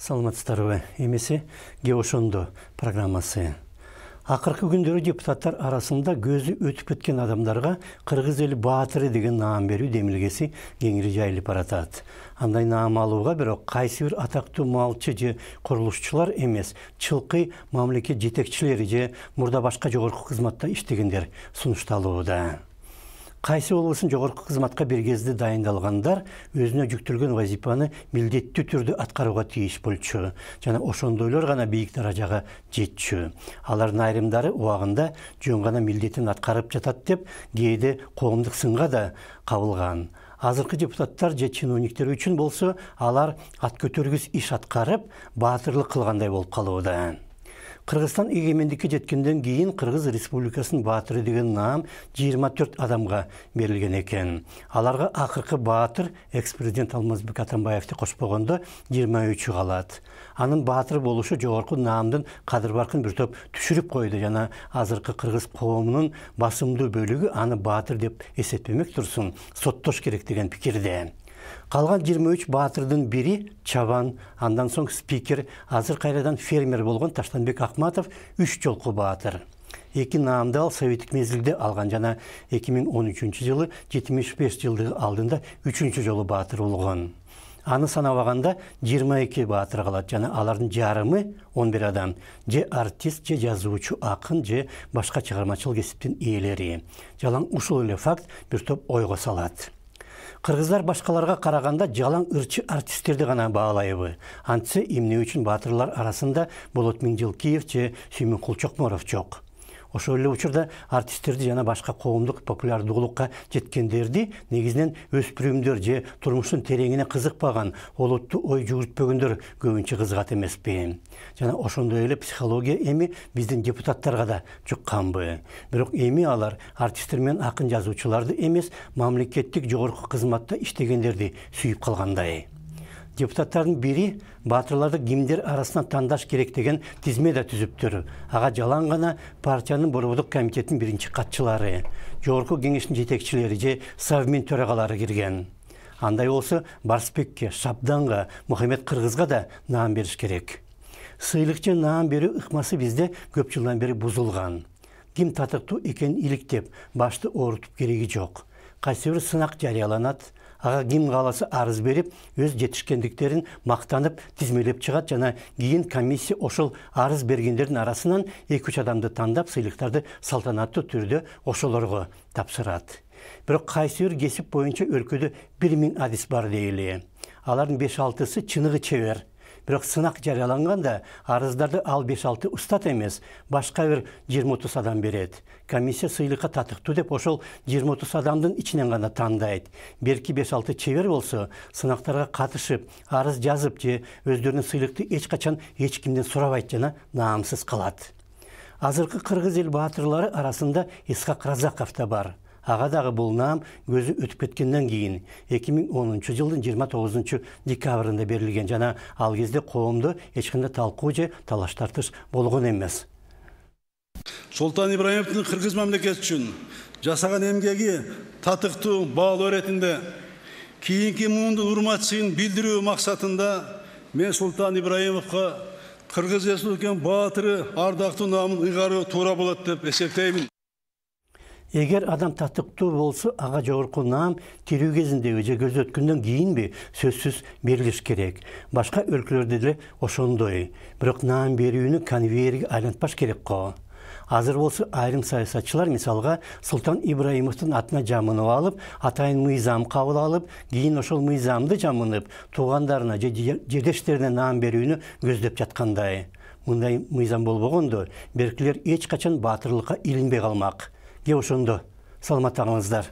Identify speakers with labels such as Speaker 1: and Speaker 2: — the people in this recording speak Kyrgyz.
Speaker 1: Саламатсыздарбы? Эмесе ке ошондо программасы. Акыркы күндөрү депутаттар арасында көзү өтүп кеткен адамдарга кыргыз эли баатыры деген наам берүү демилгеси кеңири жайылып баратат. Андай наам алууга бирок кайсы бир атактуу малчы же курулушчулар эмес, чылкы мамлекет жетекчилери же мурда башка жогорку кызматта иштегендер сунушталууда. Кайсы болбосун жогорку кызматка бир кезде дайындалгандар өзүнө жүктөлгөн вазифаны милдеттүү түрдө аткарууга тийиш болчу жана ошондойлор гана бийик даражага жетчү. Алардын айрымдары убагында жөн гана милдетин аткарып жатат деп кээде коомдук сынга да кабылган. Азыркы депутаттар же чиновниктер үчүн болсо алар ат көтөргүс иш аткарып, баатырлык кылгандай болуп калууда. Кыргызстан эгемендикке жеткенден кийин Кыргыз Республикасынын баатыры деген наам 24 адамга берилген экен. Аларга акыркы баатыр экс-президент Алмазбек Атамбаевди кошпогондо 23 калат. Анын баатыр болушу жогорку наамдын кадыр-баркын бир топ түшүрүп койду жана азыркы кыргыз коомунун басымдуу бөлүгү аны баатыр деп эсептемек турсун, соттош керек деген пикирде. Калган 23 баатырдын бири чабан, андан соң спикер, азыр кайрадан фермер болгон Таштанбек Акматов 3 жолку баатыр. Эки наамды ал советтик мезгилде алган жана 2013 жылы 75 жылдыгы алдында 3-чү жолу баатыр болгон. Аны санабаганда 22 баатыр калат жана алардын жарымы 11 адам же артист, же жазуучу, акын, же башка чыгармачыл кесиптин ээлери. Жалаң ушул эле факт бир топ ойго салат. Кыргыздар башкаларга караганда жалаң ырчы артисттерди гана баалайбы. Антсе эмне үчүн баатырлар арасында Болот Миңжилкиев же Сүймөн Кулчокморов жок. Ошол эле учурда артисттерди жана башка коомдук популярдуулукка жеткендерди негизинен өспүрүмдөр же турмуштун тереңине кызыкпаган, олуттуу ой жүгүртпөгөндөр көбүнчө кызыгат эмеспи. Жана ошондой эле психология эми биздин депутаттарга да жукканбы. Бирок эми алар артисттер менен акын жазуучуларды эмес, мамлекеттик жогорку кызматта иштегендерди сүйүп калгандай. Депутаттардын бири баатырларды кимдер арасынан тандаш керек деген тизме да түзүптүр. Ага жалаң гана партиянын борбордук комитетинин биринчи катчылары, жогорку кеңештин жетекчилери же Совмин төрагалары кирген. Андай болсо Барсбекке, Шабданга, Мухаммед Кыргызга да наам бериш керек. Сыйлыкчы наам берүү ыкмасы бизде көп жылдан бери бузулган. Ким татыктуу экенин иликтеп, башты оорутуп кереги жок. Кайсы бир сынак жарыяланат, ага ким кааласа арыз берип, өз жетишкендиктерин мактанып тизмелеп чыгат жана кийин комиссия ошол арыз бергендердин арасынан 2-3 адамды тандап сыйлыктарды салтанаттуу түрдө ошолорго тапшырат. Бирок кайсы бир кесип боюнча өлкөдө 1000 адис бар дейли. Алардын 5-6сы чыныгы чебер. Бирок сынак жарыяланганда арыздарды ал 5-6 устат эмес, башка бир 20-30 адам берет. Комиссия сыйлыкка татыктуу деп ошол 20-30 адамдын ичинен гана тандайт. Берки 5-6 чебер болсо, сынактарга катышып, арыз жазып же өздөрүнүн сыйлыкты эч качан эч кимден сурабайт жана наамсыз калат. Азыркы кыргыз эл баатырлары арасында Исхак Разаков да бар. Ага дагы бул наам көзү өтүп кеткенден кийин 2010 жылдын 29 декабрында берилген жана ал кезде коомдо эч кандай талкуу же талаш тартыш болгон эмес.
Speaker 2: Султан Ибраимовдун кыргыз мамлекети үчүн жасаган эмгеги татыктуу баалоо иретинде кийинки муундун урматчысын билдирүү максатында мен Султан Ибраимовго Кыргыз Республикасынын баатыры ардактуу наамын ыйгаруу туура болот деп эсептеймин.
Speaker 1: Эгер адам татыктуу болсо, ага жогорку наам тирүү кезиндеби же көзү өткөндөн кийинби сөзсүз берилиш керек. Башка өлкөлөрдө деле ошондой. Бирок наам берүүнү конвейерге айлантпаш керек го. Азыр болсо айрым саясатчылар мисалга Султан Ибраимовдун атына жамынып алып, атайын мыйзам кабыл алып, кийин ошол мыйзамды жамынып, туугандарына же жердештерине наам берүүнү көздөп жаткандай. Мындай мыйзам болбогондо, беркилер эч качан баатырлыкка илинбей калмак. Ке ошондо саламат калыңыздар.